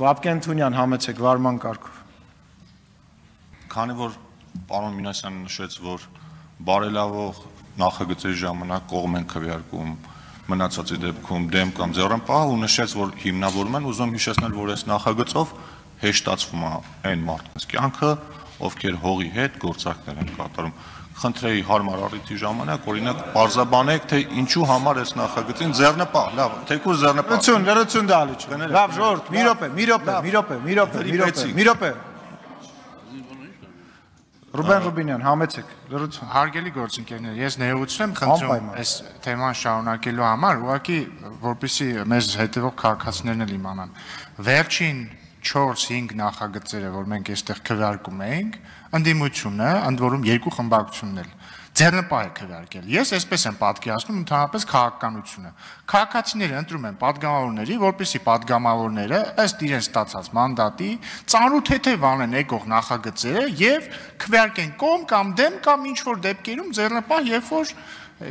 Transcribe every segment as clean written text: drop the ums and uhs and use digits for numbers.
Վապկեն Թունյան, համեցեք վարման կարգով։ Քանի որ պարոն Մինասյանը նշեց, որ բարելավող նախագծերի ժամանակ կողմ են քվեարկում, մնացածի դեպքում դեմ կամ ձեռնպահ ու նշեց, որ հիմնավորում են, ուզում հիշեցնել, որ այս նախագծով հեշտացվում է այն մարդկանց կյանքը, ովքեր հողի հետ գործարքներ են կատարում։ Խնդրեի հարմար առիթի ժամանակ, օրինակ, պարզաբանեք, թե ինչու համար այս նախագծին ձեռնպահ, լավ, թեկուզ ձեռնպահ։ Լրություն դալիչ։ Լավ, ժողովուրդ, մի րոպե։ Ռուբեն Ռուբինյան, համեցեք, լրություն։ Հարգելի գործընկերներ, ես ներողություն եմ խնդրում այս թեման շարունակելու համար, ուղղակի որպեսզի մեզ հետևող քաղաքացիներն էլ իմանան։ Վերջին 4-5 նախագծերը, որ մենք այստեղ քվեարկում էինք, ընդդիմությունը, ընդ որում երկու խմբակցությունն էլ ձեռնպահ է քվեարկել։ Ես այսպես եմ պատկերացնում ընդհանրապես քաղաքականությունը։ Քաղաքացիները ընտրում են падգամավորների, որպեսզի падգամավորները ըստ իրենց ստացած մանդատի ծանոթ-թեթև անեն եկող նախագծերը եւ քվեարկեն կողմ կամ դեմ կամ ինչ որ դեպքերում ձեռնպահ, երբ որ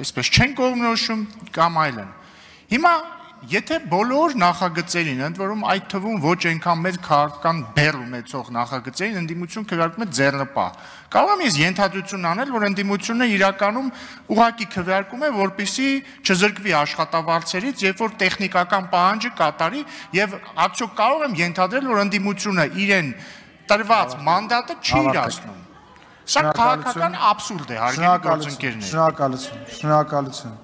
այսպես չեն կողմնորոշում կամ այլն։ Հիմա եթե բոլոր նախագծերին, ընդ որում այդ թվում ոչ այնքան մեծ քաղաքական բեռ ունեցող նախագծերին ընդդիմություն քվեարկում է ձեռնպահ, կարող եմ ես ենթադրություն անել, որ ընդդիմությունը իրականում ուղղակի քվեարկում է, որպեսզի չզրկվի աշխատավարձերից, երբ որ տեխնիկական պահանջը կատարի, եւ արդյոք կարող եմ ենթադրել, որ ընդդիմությունը իրեն տրված մանդատը չի իրացնում։ Սա քաղաքական աբսուրդ է, հարգելի գործընկերներ։ Շնորհակալություն։